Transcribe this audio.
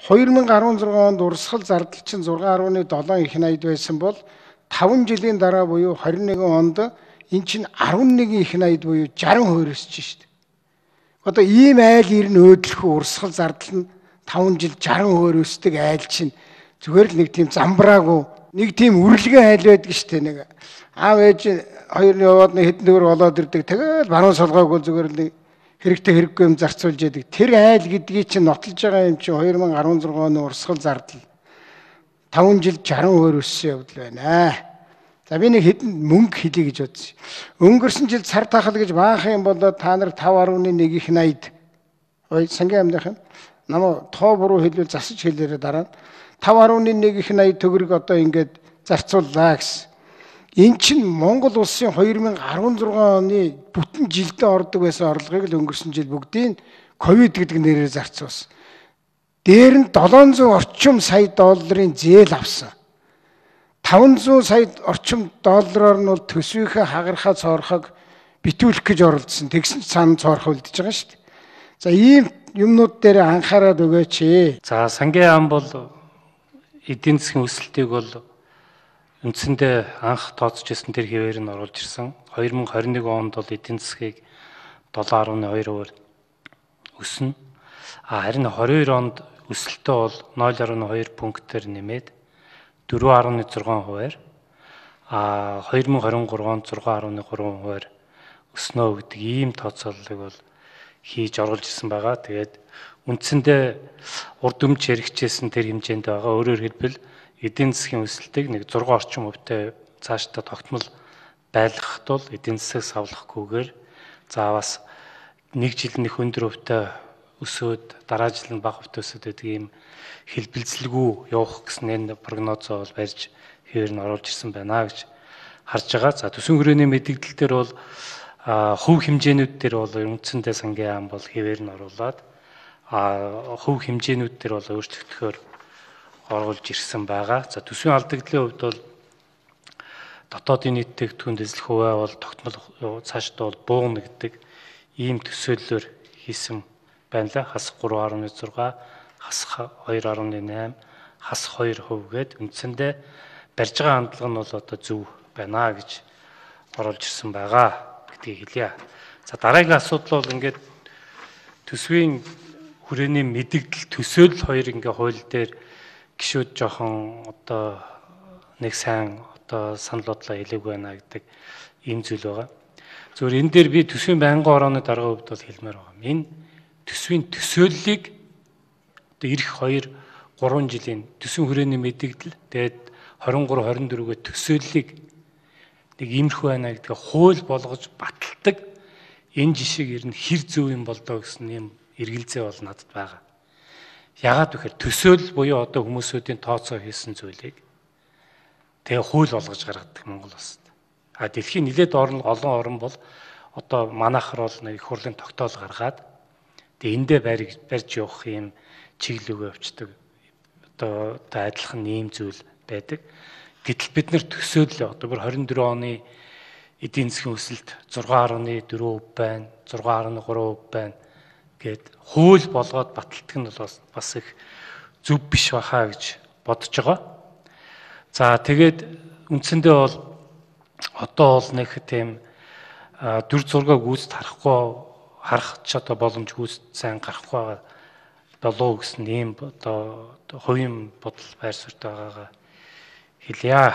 2016 онд урсгал зардал чинь 6.7 их найд байсан бол 5 жилийн дараа буюу 21 онд эн чинь 11 их найд буюу 60% өсөж шít. Одоо ийм айл ирнэ өөдлөх урсгал зардал нь 5 жил 60% өсдөг айл чинь зүгээр л нэг тийм замбраагүй нэг тийм үрлэгэн айл байдаг шít нэг аав ээж хоёр яваад нэг хэдэн төгрөг олоод ирдэг. Тэгээд баруун солгоогүй зүгээр л нэг хэрэгтэй хэрэггүй юм зарцуулж яадаг. Тэр айл гэдгийг чинь нотолж байгаа юм чинь 2016 оны урсгал зардал 5 жил 60% өссөн явдал байна. За би нэг хэдэн мөнгө хэлье гэж бодсон. Өнгөрсөн жил цар тахал гэж баахан юм болоод та нар 5.1 их найд. Ой сангийн амдынхан намаа тоо буруу хэлвэл засаж хэлээрээ дараа 5.1 их найд төгрөг одоо ингээд зарцууллаа гэсэн. Эн чинь Монгол улсын 2016 оны бүтэн жилдээ ордог байсан орлогыг л өнгөрсөн жил бүгдийг ковид гэдэг нэрээр зарцуулсан. Дээр нь 700 орчим сая долларын зээл авсан. 500 сая орчим доллараар нь бол төсвийнхээ хагархаа цоорхог битүүлэх гэж оролдсон. Тэгсэн ч цаана цоорхоо үлдэж байгаа шүү дээ. За ийм юмнууд дээр анхаарал өгөөч. За сангийн ам бол эдийн засгийн өсөлтийг бол үндсэндээ анх тооцож ирсэн тэр хэвээр нь оруулж ирсэн. 2021 онд бол эдийн засгийг 7.2% өснө. Харин 22 онд өсөлтөө бол 0.2 пунктээр нэмээд 4.6%-аар 2023 онд 6.3%-аар өснө гэдэг ийм тооцооллыг бол хийж оруулж ирсэн байгаа. Тэгээд үндсэндээ урд өмч хэрэгжижсэн тэр хэмжээнд байгаа. Өөрөөр хэлбэл эдийн засгийн өсөлтийг нэг 6 орчим хувьтай цаашдаа тогтмол байлгахад бол эдийн засаг савлахгүйгээр за бас нэг жил нэг өндөр хувьтай өсөөд дараа жил нь бага хувьтай өсөд байдаг ийм хэлбэлцэлгүй явах гэсэн энэ прогнозоо бол барьж хэвээр нь оруулж ирсэн байна гэж харж байгаа. За төсвийн хүрээний мэдээлэл дээр бол хувь хэмжээнүүд дээр бол үндсэндээ сангийн ам бол хэвээр нь оруулаад хувь хэмжээнүүд дээр бол өөрчлөгдөхөөр оруулж ирсэн байгаа. За төсвийн алдагдлын хувьд бол дотоодын нийт тэтгэврийн эзлэх хувиа бол тогтмол цаашдаа бол буугна гэдэг ийм төсөөллөөр хийсэн байна л. Хасах 3.6, хасах 2.8, хасах 2% гээд үндсэндээ барьж байгаа хандлага нь бол одоо зөв байна гэж оруулж ирсэн байгаа гэдгийг хэлье. За дараагийн асуудал бол ингээд төсвийн хүрээний мэдээлэл төсөөлөл хоёр ингээ хууль дээр гişүүд жоохон одоо нэг сайн одоо санал бодлоо хэлээгүй байна гэдэг ийм зүйл байгаа. Зөвхөн энэ дээр би төсвийн байнгын орооны дарга хувьд бол хэлмээр байгаа. Энэ төсвийн төсөөллийг одоо ирэх 2-3 жилийн төсвийн хүрээний мэдээлэл тэгээд 23-24-гээ төсөөллийг нэг иймэрхүү байна гэдгээ хууль болгож баталдаг энэ жишээг ер нь хэр зөв юм болдоо гэсэн юм эргэлзээ бол надад байгаа. Яагаад гэхээр төсөөлөл буюу одоо хүмүүсүүдийн тооцоо хийсэн зүйлийг тэгээ хууль болгож гаргадаг Монгол улсад. Дэлхийн нэлээд олон орн бол одоо манайхаар бол нэг их хурлын тогтоол гаргаад тэгээ эндээ барьж явах юм чиглэлөө явцдаг. Одоо адилхан ийм зүйл байдаг. Гэтэл бид нар төсөөлөл одоо 24 оны эдийн засгийн өсөлт 6.4% байна, 6.3% байна гэд хууль болгоод баталдаг нь бас их зөв биш бахаа гэж бодож байгаа. За тэгээд үндсэндээ бол одоо бол нэг тийм дүр зураг гүйцэд харах ч одоо боломж гүйцэд сайн гарахгүй болов гэсэн ийм одоо хувийн бодол байр суурьтай байгаагаа хэлье.